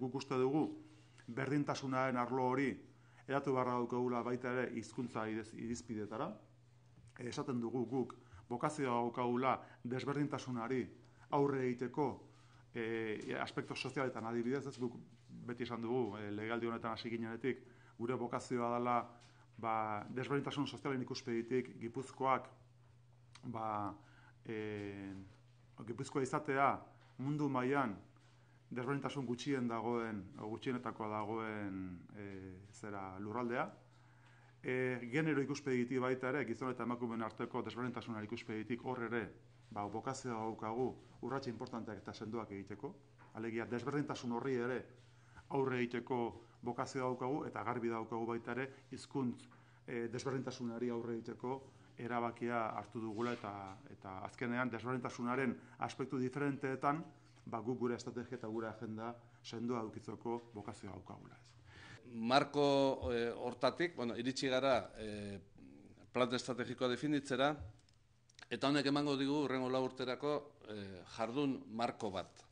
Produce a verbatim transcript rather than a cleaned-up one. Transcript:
guk uste dugu berdintasunaren arlo hori eratu beharra daukagula baita ere hizkuntza irizpideetara. Esaten dugu guk bokazioa daukagula desberdintasunari aurre egiteko e, aspektu sozialetan adibidez, ez guk beti esan dugu e, legealdi honetan hasi ginenetik gure bokazioa dela ba, desberdintasun sozialen ikuspegitik Gipuzkoak ba, e, Gipuzkoa izatea mundu mailan desberdintasun gutxien dagoen, gutxienetakoa dagoen e, zera lurraldea. E, genero ikuspegitik baita ere, gizon eta emakumeen arteko desberdintasunaren ikuspegitik hor ere, ba, bokazioa daukagu urratxe importanteak eta sendoak egiteko. Alegia, desberdintasun horri ere aurre egiteko bokazioa daukagu eta garbi daukagu baita ere hizkuntz e, desberdintasunari aurre egiteko erabakia hartu dugula eta, eta azkenean desberdintasunaren aspektu diferenteetan ba, guk gure estrategia eta gure agenda sendoa edukitzeko bokazioa daukagula. Ez. Marko eh, hortatik, bueno, iritsi gara eh, plan estrategikoa definitzera, eta honek emango digu hurrengo lau urterako eh, jardun marko bat.